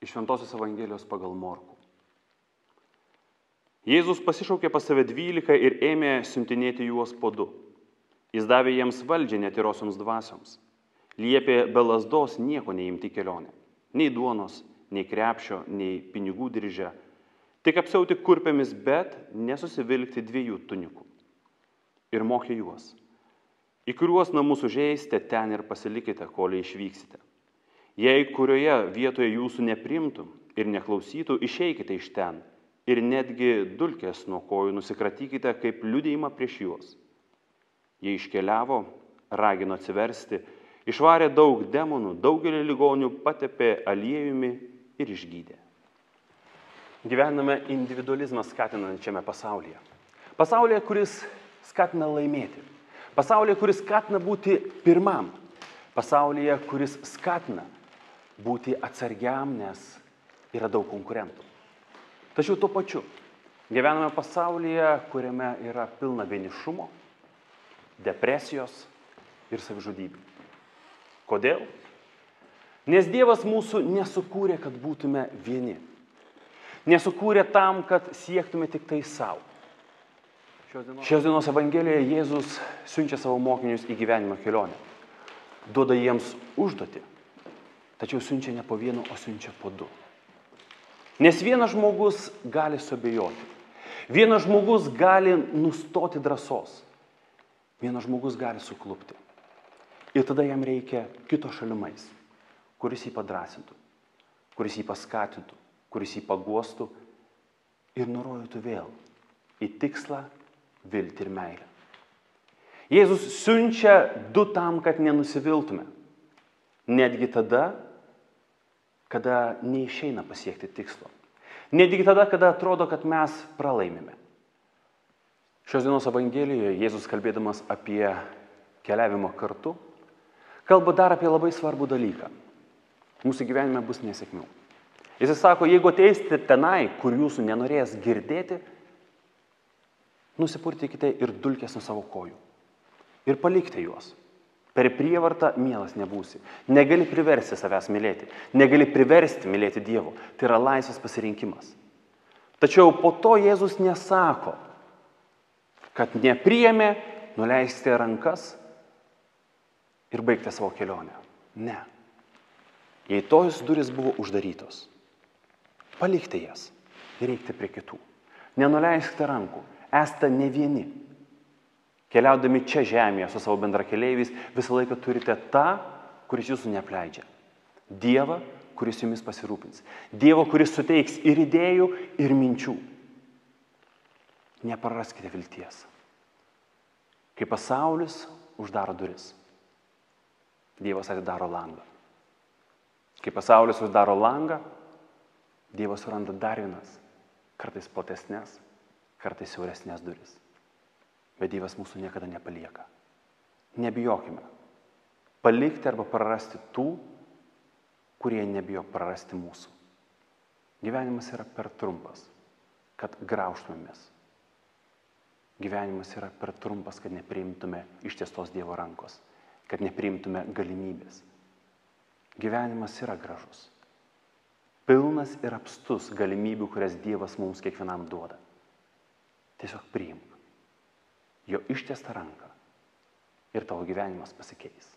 Iš Šventosios Evangelijos pagal Morkų. Jėzus pasišaukė pas save 12 ir ėmė siuntinėti juos po 2. Jis davė jiems valdžią netyrosioms dvasioms. Liepė be lazdos nieko neimti kelionę. Nei duonos, nei krepšio, nei pinigų diržę. Tik apsiauti kurpėmis, bet nesusivilkti 2 tunikų. Ir mokė juos. Į kuriuos namus užeisite, ten ir pasilikite, kol išvyksite. Jei kurioje vietoje jūsų neprimtų ir neklausytų, išeikite iš ten ir netgi dulkės nuo kojų nusikratykite kaip liudijimą prieš juos. Jie iškeliavo, ragino atsiversti, išvarė daug demonų, daugelį ligonių patepė aliejumi ir išgydė. Gyvename individualizmą skatinančiame pasaulyje. Pasaulyje, kuris skatina laimėti. Pasaulyje, kuris skatina būti pirmam. Pasaulyje, kuris skatina būti atsargiam, nes yra daug konkurentų. Tačiau tuo pačiu gyvename pasaulyje, kuriame yra pilna vienišumo, depresijos ir savižudybių. Kodėl? Nes Dievas mūsų nesukūrė, kad būtume vieni. Nesukūrė tam, kad siektume tik tai savo. Šios dienos Evangelijoje Jėzus siunčia savo mokinius į gyvenimo kelionę. Duoda jiems užduotį, tačiau siunčia ne po 1, o siunčia po 2. Nes vienas žmogus gali suabejoti. Vienas žmogus gali nustoti drąsos. Vienas žmogus gali suklupti. Ir tada jam reikia kito šalimais, kuris jį padrasintų, kuris jį paskatintų, kuris jį paguostų ir nurodytų vėl į tikslą, viltį ir meilę. Jėzus siunčia 2 tam, kad nenusiviltume. Netgi tada, kada neišeina pasiekti tikslo. Netgi tada, kada atrodo, kad mes pralaimime. Šios dienos Evangelijoje Jėzus, kalbėdamas apie keliavimą kartu, kalba dar apie labai svarbų dalyką. Mūsų gyvenime bus nesėkmių. Jis sako, jeigu ateisite tenai, kur jūsų nenorės girdėti, nusipurtykite ir dulkės nuo savo kojų. Ir palikite juos. Per prievartą mielas nebūsi. Negali priversti savęs mylėti. Negali priversti mylėti Dievo. Tai yra laisvas pasirinkimas. Tačiau po to Jėzus nesako, kad nepriėmė, nuleiskite rankas ir baigti savo kelionę. Ne. Jei tos durys buvo uždarytos, palikite jas ir eikite prie kitų. Nenuleiskite rankų. Esate ne vieni. Keliaudami čia žemėje su savo bendrakeleiviais, visą laiką turite tą, kuris jūsų neapleidžia. Dievą, kuris jumis pasirūpins. Dievą, kuris suteiks ir idėjų, ir minčių. Nepraraskite vilties. Kai pasaulis uždaro duris, Dievas atidaro langą. Kai pasaulis uždaro langą, Dievas suranda dar vienas, kartais platesnės, kartais siauresnės duris. Bet Dievas mūsų niekada nepalieka. Nebijokime. Palikti arba prarasti tų, kurie nebijo prarasti mūsų. Gyvenimas yra per trumpas, kad graužtumėmės. Gyvenimas yra per trumpas, kad nepriimtume ištiestos Dievo rankos, kad nepriimtume galimybės. Gyvenimas yra gražus. Pilnas ir apstus galimybių, kurias Dievas mums kiekvienam duoda. Tiesiog priimk jo ištiestą ranką ir tavo gyvenimas pasikeis.